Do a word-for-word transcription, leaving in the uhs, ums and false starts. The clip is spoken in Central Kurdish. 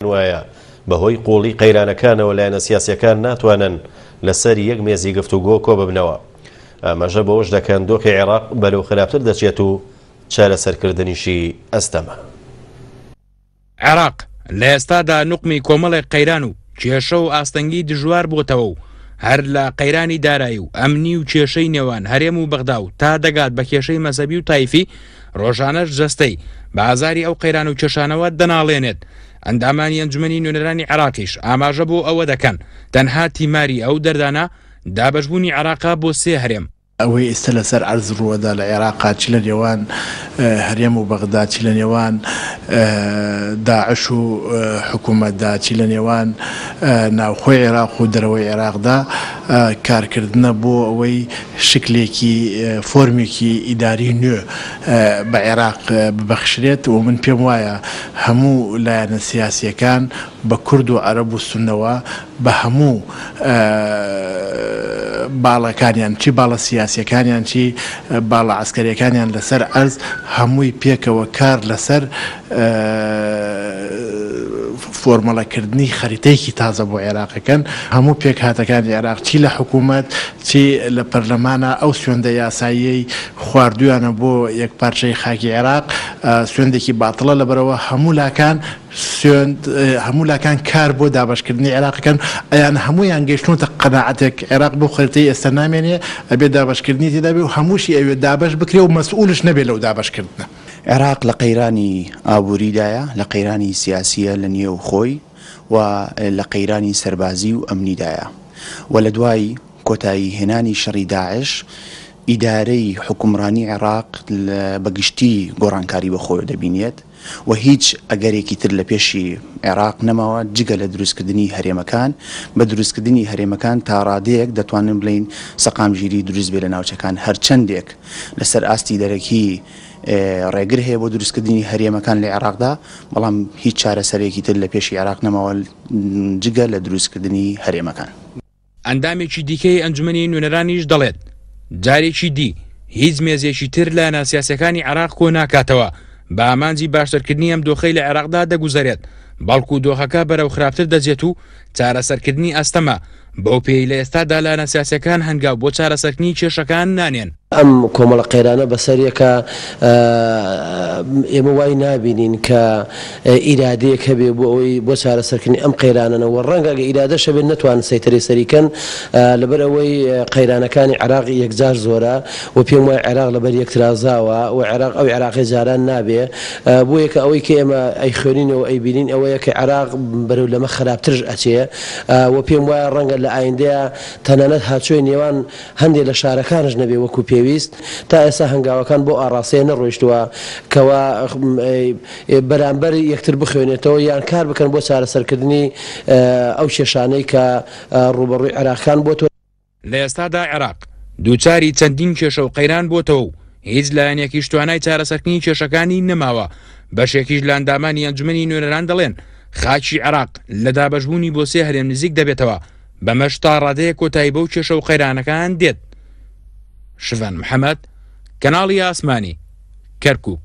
وایە بەهۆی قوڵی قەیرانەکانەوە لایەنە سیاسیەکان ناتوانن لەسەر یەک مێزی گفتوگۆ کۆ ببنەوە. ئاماژە بەوەش دەکەن دۆخی عێراق بەرەو خراپتر دەچێت و چارەسەرکردنیشی ئەستەمە. عێراق لە ئێستادا نوقمی کۆمەڵێک قەیران و کێشە و ئاستەنگی دژوار بۆتەوە و هەر لە قەیرانی دارایی و ئەمنی و کێشەی نێوان هەرێم و بەغدا و تا دەگات بە کێشەی مەزەبی و تایفی، ڕۆژانەش جەستەی بە ئازاری ئەو قەیران و کێشانەوە دەناڵێنێت. ئەندامانی ئەنجومەنی نوێنەرانی عێراقیش ئاماژە بۆ ئەوە دەکەن تەنها تیماری ئەو دەردانە دابەشبوونی عێراقە بۆ سێ هەرێم. ئەوەی ئێستا لەسەر عەرز ڕووەدا لە عێراقا، چی لە نێوان هەرێم و بەغدا، چی لە نێوان داعش و حکوومەتدا، چی لە نێوان ناوخۆی عێراق و دەرەوەی عێراقدا، کارکردنە بۆ ئەوەی شکلێکی فۆرمێکی ئیداری نوێ بە عێراق ببەخشرێت. و من پێم وایە هەموو لایەنە سیاسیەکان بە کورد و عەرەب و سوننەوە بە هەموو باڵەکانیان، چی باڵە سیاسیەکانیان چی باڵە عەسکەریەکانیان لەسەر عەرز، هەمووی پێکەوە کار لەسەر فۆرمەڵەکردنی خەریتەیەکی تازە بۆ عێراقەکەن. هەموو پێکهاتەکانی عێراق چی لە حکوومەت چی لە پەرلەمانە ئەو سوێندە یاساییەی خواردویانە بۆ یەک پارچەی خاکی عێراق سوێندێکی باتڵە. لەبەرەوە هەموو لاکان سوێند هەموو لاکان کار بۆ دابەشکردنی عێراقەکەن. ئەیان هەموویان گەیشتونەتە قەناعەتێک عێراق بۆ خەریتەی ئێستا نامێنێ، ئەبێ دابەشکردنی تێدا بێ و هەمووشی ئەوێ دابەش بکرێ و مەسئولش نەبێ لەو دابەشکردنە. عێراق لە قەیرانی ئابووریدایە، لە قەیرانی سیاسیە لە نێو خۆی و لە قەیرانی سەربازی و ئەمنیدایە. و لە دوای کۆتایی هێنانی شەڕی داعش ئیدارەی حکومڕانی عێراق بەگشتی گۆڕانکاری بەخۆی دەبینێت و هیچ ئەگەرێکی تر لە پێشی عێراق نەماوە جگە لە دروستکردنی هەرێمەکان. بە دروستکردنی هەرێمەکان تا ڕادەیەک دەتوانن بڵین سەقامگیری دروست بێ لە ناوچەکان. هەرچەندێک لەسەر ئاستی دەرەکی ڕێگر هەیە بۆ دروستکردنی هەرێمەکان لە عێراقدا، بەڵام هیچ چارەسەرێکی تر لە پێشی عێراق نەماوە جگە لە دروستکردنی هەرێمەکان. ئەندامێکی دیکەی ئەنجومەنی نوێنەرانیش دەڵێت جارێکی دی هیچ مێزێکی تر لە ناسیاسەکانی عێراق کۆ ناکاتەوە بە ئامانجی باشترکردنی ئەم دۆخەی لە عێراقدا دەگوزەرێت، بەڵکو دۆخەکە بەرەو خراپتر دەجێت و چارەسەرکردنی ئەستەمە. بەو پێی لە ئێستادا لایەنە سیاسیەکان هەنگاو بۆ چارەسەرکردنی کێشەکان نانێن. ئەم کۆمەڵە قەیرانە بەسەریەکە ئێمە وای نابینین کە ئیرادەیەک هەبێ بۆ ئەوەی بۆ چارەسەرکردنی ئەم قەیرانەوە. ڕەنگە ئەگە ئیرادەش هەبێت نەتوانن سەیتەرەی سەریکەن، لەبەر ئەوەی قەیرانەکانی عێراق یەکجار زۆرە و پێم وایە عێراق لەبەر یەکترازاوە و عێراق ئەو عێراقی جاران نابێ. بۆیە کە ئەوەی کە ئێمە ئەیخوێنینەوە ئەیبینین ئەوەیە کە عێراق بەرەو لەمە خراپترش ئەچێ و پێم وایە ڕەنگە لە ئایندەیە تەنانەت هاچۆی نێوان هەندێک لە شارەکانش نەبێ وەکو پێویست. تا ئێستا هەنگاوەکان بۆ ئاڕاستەیە نەڕۆیشتووە کەوا بەرامبەر یەکتر بخوێنێتەوە یان کار بکەن بۆ چارەسەرکردنی ئەو کێشانەی کە ڕوبەڕووی عێراقەکان بۆتەوە. لە ئێستادا عێراق دووچاری چەندین کێشە و قەیران بۆتەوە و هیچ لایەنێکیش توانای چارەسەرکردنی کێشەکانی نەماوە. بەشێکیش لە ئەندامانی ئەنجومەنی نوێنەران دەڵێن خاکی عێراق لە دابەشبوونی بۆ سێ هەرێم نزیک دەبێتەوە، بەمەش تا ڕادەیە کۆتایی بەو کێشە و قەیرانەکان دێت. شڤان محەممەد، کەناڵی ئاسمانی، کەرکووک.